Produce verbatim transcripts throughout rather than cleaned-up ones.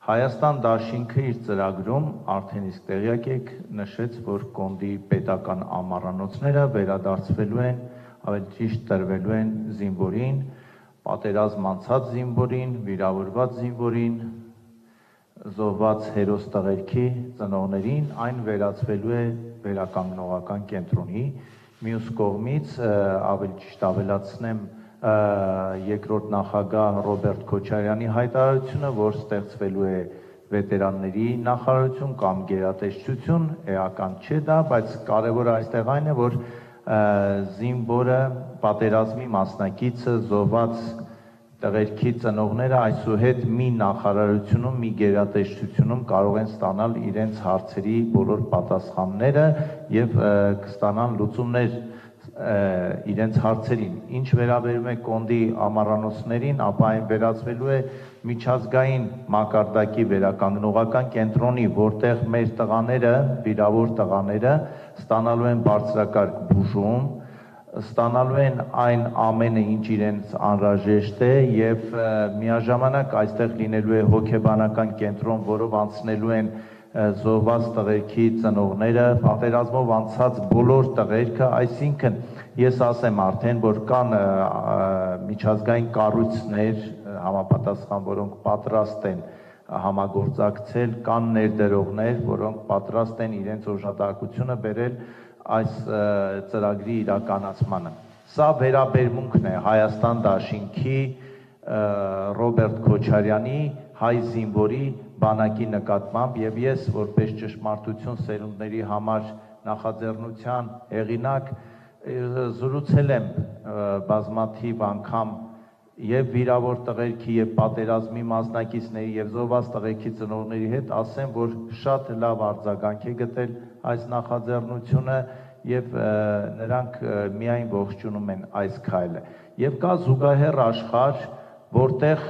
Հայաստան դաշինքը իր ծրագրում արդեն իսկ տեղյակ եք նշեց, որ կոնդի պետական ամառանոցները վերադարձվելու են, ավելի ճիշտ տրվելու են զինվորին, պատերազմ անցած զինվորին, վիրավորված զինվորին, զոհված հերոս տղերքի ծնողներին, այն վերածվելու է վերականգնողական կենտրոնի, մյուս կողմից ավելի ճիշտ ավելացնեմ երկրորդ նախագահ Ռոբերտ Քոչարյանի հայտարարությունը, որ ստեղծվելու է վետերանների նախարարություն կամ գերատեսչություն, էական չէ դա, բայց կարևորը այստեղ այն է, որ զինվորը, պատերազմի մասնակիցը, զոհված տղերքի ծնողները այսուհետ մի նախարարությունում, մի գերատեսչությունում կարող են ստանալ իրենց հարցերի բոլոր պատասխանները եւ կստանան լուծումներ իրենց հարցերին, ինչ վերաբերում է կոնդի ամառանոցներին, ապա այն վերածվելու է միջազգային մակարդակի վերականգնողական կենտրոնի, որտեղ մեր տղաները, վիրավոր տղաները ստանալու են բարձրակարգ բուժում, ստանալու են այն ամենը, ինչ իրենց անհրաժեշտ է եւ միաժամանակ այստեղ լինելու է հոգեբանական կենտրոն, որով անցնելու են զոհված տղերքի ծնողները, պատերազմով անցած բոլոր տղերքը, այսինքն ես ասեմ արդեն, որ կան միջազգային կառույցներ համապատասխան, որոնք պատրաստ են համագործակցել, կան ներդրողներ, որոնք պատրաստ են իրենց օժանդակությունը բերել այս ծրագրի իրականացմանը։ Սա վերաբերմունքն է Հայաստան դաշինքի Ռոբերտ Քոչարյանի հայ զինվորի բանակի նկատմամբ եւ ես որպես ճշմարտություն սերունդների համար նախաձեռնության հեղինակ զրուցել եմ բազմաթիվ անգամ եւ վիրավոր տղերքի եւ պատերազմի մասնակիցների եւ զոհված տղերքի ծնողների հետ, ասեմ, որ շատ լավ արձագանք է գտել այս նախաձեռնությունը եւ նրանք միայն ողջունում են այս քայլը։ Եվ կա զուգահեռ աշխարհ, որտեղ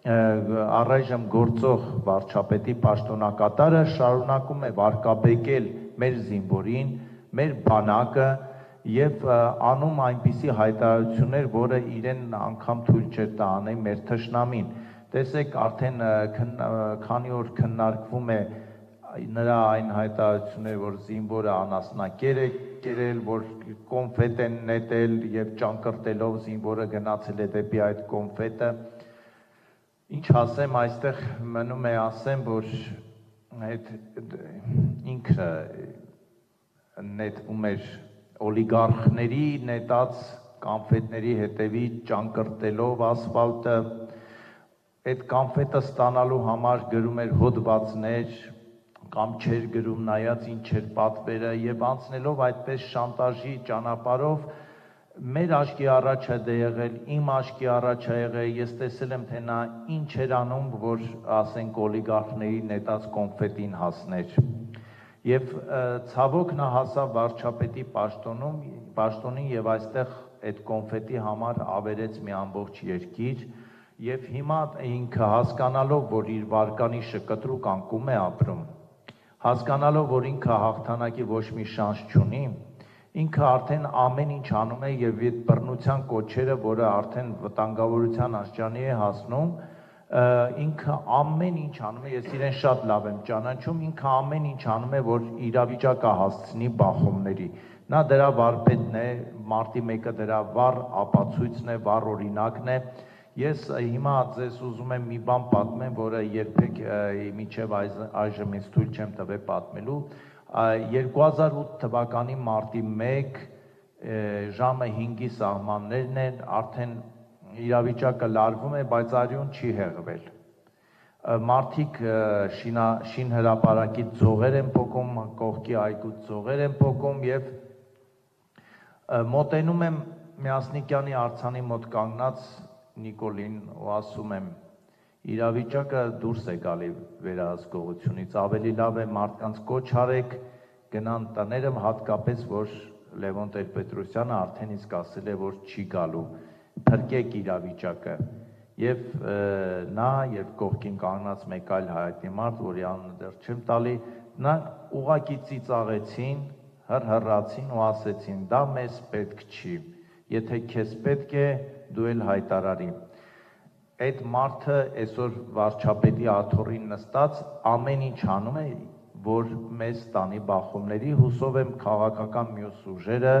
առայժմ գործող վարչապետի պաշտոնակատարը շարունակում է վարկաբեկել մեր զինվորին, մեր բանակը եւ անում այնպիսի հայտարարություններ, որը իրեն անգամ թույլ չէր տա անել մեր թշնամին։ Տեսեք, արդեն քանի օր քննարկվում է նրա այն հայտարարությունները, որ զինվորը անասնակեր է կերել, որ կոնֆետ են նետել եւ ճանկրտելով զինվորը գնացել է դեպի այդ կոնֆետը։ Ինչ ասեմ, այստեղ մնում է ասեմ, որ այդ ինքը նետվում էր օլիգարխների նետած կոնֆետների հետևի ճանկրտելով ասֆալտը, այդ կոնֆետը ստանալու համար գրում էր հոդվածներ, կամ չէր գրում նայած ինչ էր պատվերը եւ անցնելով այդպես շանտաժի ճանապարհով մեր աչքի առաջ է դե եղել, իմ աչքի առաջ է եղել, ես տեսել եմ, թե նա ինչ էր անում, որ ասենք օլիգարխների նետած կոնֆետին հասներ։ Եվ ցավոք նա հասավ վարչապետի պաշտոնում, պաշտոնին եւ այստեղ այդ կոնֆետի համար ավերեց մի ամբողջ երկիր եւ հիմա ինքը հասկանալով, որ իր վարկանիշը կտրուկ անկում է ապրում, հասկանալով, որ ինքը հաղթանակի ոչ մի շանս չունի, ինքը արդեն ամեն ինչ անում է եւ այդ բռնության կոչերը, որը արդեն վտանգավորության աստիճանի է հասնում, ինքը ամեն ինչ անում է, ես իրեն շատ լավ եմ ճանաչում, ինքը ամեն ինչ անում է, որ իրավիճակը հասցնի բախումների։ Նա դրա վարպետն է, մարտի մեկը դրա վառ ապացույցն է, վառ օրինակն է։ Ես հիմա ձեզ ուզում եմ մի բան պատմեմ, որը երբեք մինչև այժմ ինձ թույլ չեմ տվել պատմելու։ երկու հազար ութ թվականի մարտի մեկ ժամը հինգի սահմաններն են, արդեն իրավիճակը լարվում է, բայց արյուն չի հեղվել։ Մարդիկ շին հրապարակից ձողեր են փոկում, կողքի այգուց ձողեր են փոկում եւ մոտենում եմ Միասնիկյանի արձանի մոտ կանգնած Նիկոլին ու ասում եմ, իրավիճակը դուրս է գալի վերահսկողությունից, ավելի լավ է մարդկանց կոչ արեք, գնան տները, հատկապես, որ Լևոն Տեր-Պետրոսյանը արդեն իսկ ասել է, որ չի գալու, փրկեք իրավիճակը։ Եվ նա եւ կողքին կանգնած մեկ այլ հայտնի մարդ, որի անունը դեռ չեմ տալի, նա ուղղակի ծիծաղեցին, հռհռացին ու ասեցին, դա մեզ պետք չի, եթե քեզ պետք է, դու էլ հայտարարի։ այդ մարդը այսօր վարչապետի աթոռին նստած ամեն ինչ անում է, որ մեզ տանի բախումների, հուսով եմ քաղաքական մյուս ուժերը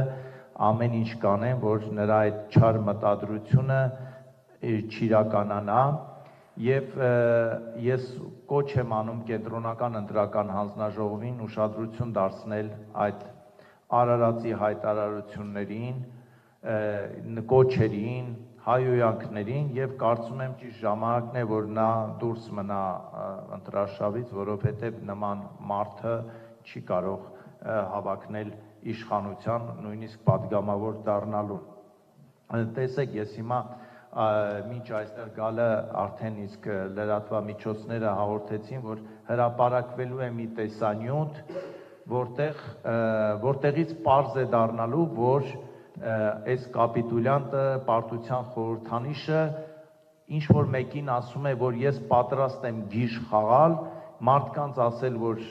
ամեն ինչ կանեն, որ նրա այդ չար մտադրությունը չիրականանա, եւ ես կոչ եմ անում կենտրոնական ընտրական հանձնաժողովին ուշադրություն դարձնել այդ Արարածի հայտարարություններին, կոչերին, հայհոյանքներին եւ կարծում եմ ճիշտ ժամանակն է, որ նա դուրս մնա ընտրարշավից, որովհետեւ նման մարդը չի կարող հավակնել իշխանության, նույնիսկ падգամավոր դառնալու։ Տեսեք, ես հիմա մինչ այստեղ գալը արդեն իսկ լրատվամիջոցները հաղորդեցին, որ հրապարակվելու է մի տեսանյութ, որտեղ որտեղից պարզ է դառնալու, որ այս կապիտուլյանտը, պարտության խորհրդանիշը ինչ որ մեկին ասում է, որ ես պատրաստ եմ գիժ խաղալ, մարդկանց ասել, որ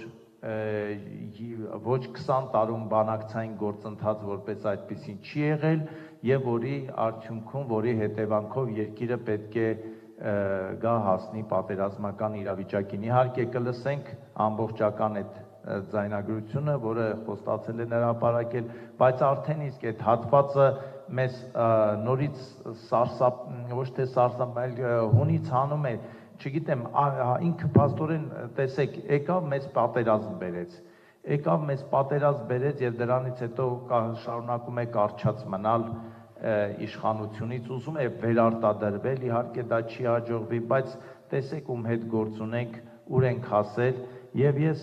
ոչ քսան տարում բանակցային գործընթաց որպես այդպեսին չի եղել եւ որի արդյունքում, որի հետևանքով երկիրը պետք է գա հասնի պատերազմական իրավիճակին։ Իհարկե կլսենք ամբողջական այդ ձայնագրությունը, որը խոստացել է հրապարակել, բայց արդեն իսկ այդ հատվածը մեզ նորից սարսափ, ոչ թե սարսափ, այլ հունից հանում է, չգիտեմ, ինքը փաստորեն, տեսեք, եկավ մեզ պատերազմ բերեց, եկավ մեզ պատերազմ բերեց եւ դրանից հետո շարունակում է կարճած մնալ իշխանությունից, ուզում է վերարտադրվել, իհարկե դա չի հաջողվի, բայց տեսեք ում հետ գործ ունենք, ուր ենք հասել եւ ես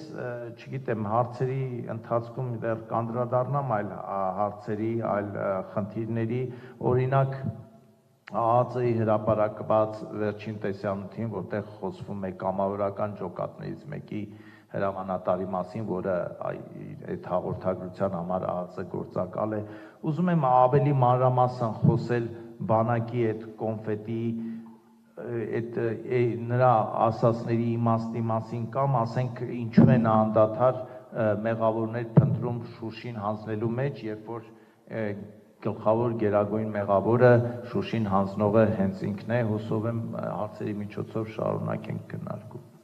չգիտեմ, հարցերի ընթացքում դեռ կանդրադառնամ այլ հարցերի, այլ խնդիրների, օրինակ ԱԱԾ-ի հրապարակված վերջին տեսանյութին, որտեղ խոսվում է կամավորական ջոկատներից մեկի հրամանատարի մասին, որը այդ հաղորդագրության համար ԱԱԾ գործակալ է, ուզում եմ ավելի մանրամասն խոսել բանակի այդ կոնֆետի, այդ նրա ասածների իմաստի մասին կամ ասենք ինչու են անդադար մեղավորներ փնտրում Շուշին հանձնելու մեջ, երբ որ գլխավոր գերագույն մեղավորը Շուշին հանձնողը հենց ինքն է, հուսով եմ հարցերի միջոցով շարունակենք քննարկում։